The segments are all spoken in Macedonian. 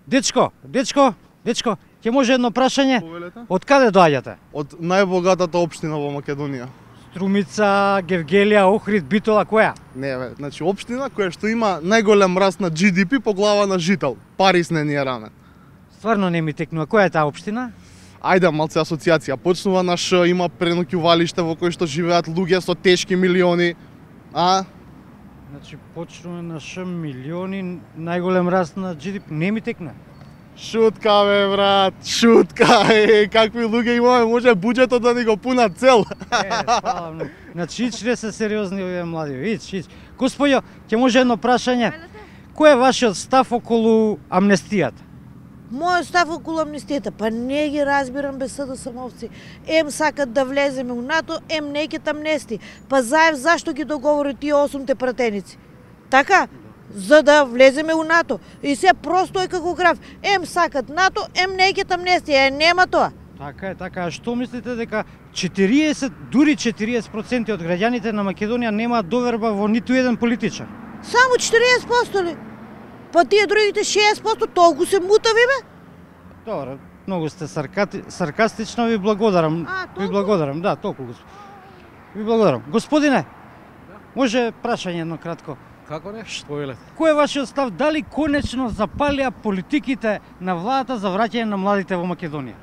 Дечко, ќе може едно прашање? Повелете? Од каде доаѓате? Од најбогатата општина во Македонија. Струмица, Гевгелија, Охрид, Битола, која? Не бе, значи општина која што има најголем раст на GDP по глава на жител. Парис не ни е рамен. Стварно не ми текнува. Која е таа општина? Ајде малце асоциација. Почнува на Ш, има преноќувалиште во кој што живеат луѓе со тешки милиони. Значи почнува на Ш милиони, најголем раст на GDP. Не ми текна. Шутка бе брат, шутка. Какви луѓе имаме, може буџетот да ни го пунат цел. Фала многу. Значи не се сериозни овие млади. Ич. Господјо, ќе може едно прашање? Кој е вашиот став околу амнестијата? Мојот став околу амнестијата, па не ги разбирам без СДСМовци. Ем сакат да влеземе у НАТО, ем не ќе амнести. Па Заев зашто ги договори тие 8 пратеници? Така? За да влеземе у НАТО. И се просто е како граф. Ем сакат НАТО, ем не ќе амнестија. Нема тоа. Така е, така. А што мислите дека 40, дури 40% од граѓаните на Македонија немаат доверба во ниту еден политичар? Само 40% ли? Па тие другите 60% толку се мутави бе? Добро, многу сте саркастично, ви благодарам. Ви благодарам, да, толку. Ви благодарам. Господине, може прашање едно кратко? Како нешто повелете? Кој е вашиот став, дали конечно запалија политиките на владата за враќање на младите во Македонија?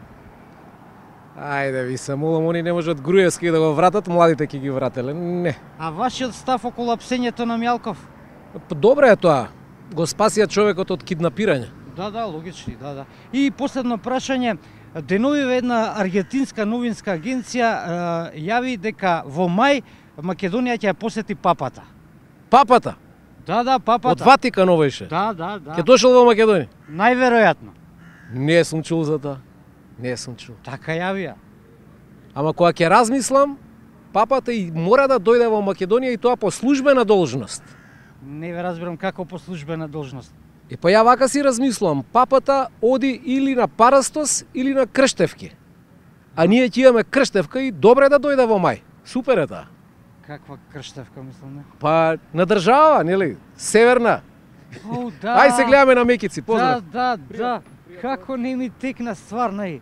Ајде, ви се молам, они не можат Груевски да го вратат, младите ќе ги врателе. Не. А вашиот став околу апсењето на Мјалков? Добро е тоа. Го спасија човекот од киднапирање. Да, логични, да. И последно прашање, деновиве една аргентинска новинска агенција јави дека во мај Македонија ќе ја посети папата. Папата? Да, папата. Од Ватикан овојше? Да. Ќе дошол во Македонија? Најверојатно. Не сум чул за тоа. Не сум чул. Така јавија. Ама кога ќе размислам, папата и мора да дојде во Македонија и тоа по службена должност. Не ве разбирам како по службена должност. И па ја вака си размислувам, папата оди или на Парастос или на Крштевки. А ние ќе имаме Крштевка и добре да дојде во мај. Супер е таа. Каква Крштевка, мислам, не? Па на држава, нели? Северна. О, да. Ај се гледаме на Мекици, поздрав. Да. Како не ми текна стварно и.